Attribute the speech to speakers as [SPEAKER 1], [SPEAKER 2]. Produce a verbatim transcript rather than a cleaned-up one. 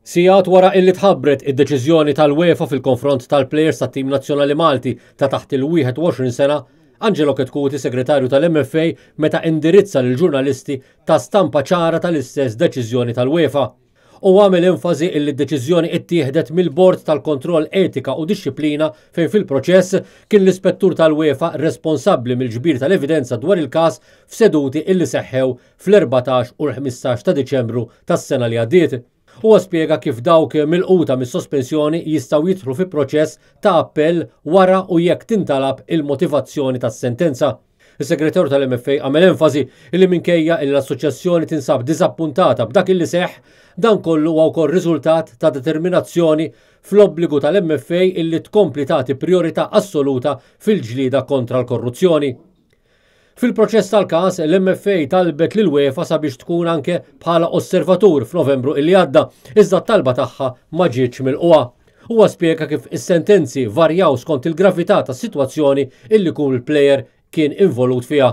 [SPEAKER 1] Sigħat wara illi tħabbret id-deċiżjoni tal-UEFA fil-konfront tal-plejers tat-tim nazzjonali Malti ta' taħt il-wieħed u għoxrin sena, Angelo Chetcuti, segretarju tal-M F A, meta indirizza lill-ġurnalisti ta stampa ċara tal-istess deċiżjoni tal-UEFA. U għamel enfasi illi d-deċiżjoni ittieħdet mill-Bord tal-Kontroll Etika u Dixxiplina, fejn fil-proċess kien l-ispettur tal-UEFA responsabbli mill-ġbir tal-evidenza dwar il-każ f'seduti illi seħħew fl-erbatax u l-ħmistax ta' Diċembru tas-sena li għaddiet. Huwa spjega kif dawk milquta mis-sospensjoni jistgħu jidħlu fi proċess ta' appell wara u jekk tintalab il-motivazzjoni tas-sentenza. Is-segretarju tal-M F A għamel enfasi li minkejja li l-assoċjazzjoni tinsab diżappuntata b'dak illi seħ, dan kollu huwa wkoll riżultat ta' determinazzjoni fl-obbligu tal-M F A illi tkompli tagħti priorità assoluta fil-ġlida kontra l-korruzzjoni. Fil-proċess tal-każ, l-M F A talbet lil UEFA sabiex tkun anke bħala osservatur f'Novembru illi għadda, iżda t-talba tagħha ma ġietx milqugħa. Huwa spjega kif is-sentenzi varjaw skont il-gravità tas-sitwazzjoni illi kull player kien involut fiha.